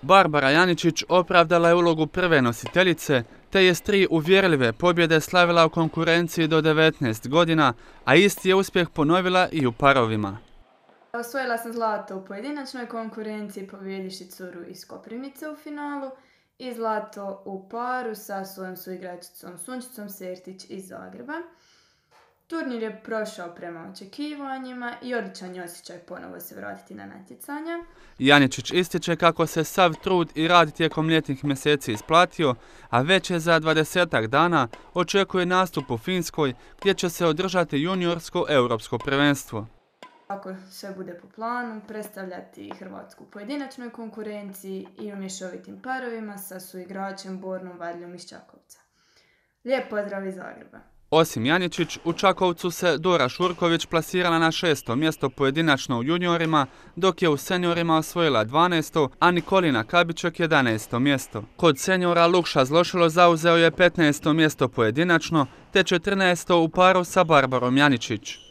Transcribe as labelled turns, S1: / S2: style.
S1: Barbara Janičić opravdala je ulogu prve nositeljice, te je s 3 uvjerljive pobjede slavila u konkurenciji do 19 godina, a isti je uspjeh ponovila i u parovima.
S2: Osvojila sam zlato u pojedinačnoj konkurenciji pobijedivši curu iz Koprivnice u finalu i zlato u paru sa svojom suigračicom Sunčicom Sertić iz Zagreba. Turnir je prošao prema očekivanjima i odličan je osjećaj ponovo se vratiti na natjecanja.
S1: Janičić ističe kako se sav trud i rad tijekom ljetnih mjeseci isplatio, a već je za 20-ak dana očekuje nastup u Finskoj gdje će se održati juniorsko europsko prvenstvo.
S2: Ako sve bude po planu, predstavljati Hrvatsku u pojedinačnoj konkurenciji i u mješovitim parovima sa suigračem Bornom Varljom iz Čakovca. Lijep pozdrav iz Zagreba!
S1: Osim Janičić, u Čakovcu se Dora Šurković plasirala na 6. mjesto pojedinačno u juniorima, dok je u seniorima osvojila 12. a Nikolina Kabiček 11. mjesto. Kod seniora Lukša Zlošilo zauzeo je 15. mjesto pojedinačno, te 14. u paru sa Barbarom Janičić.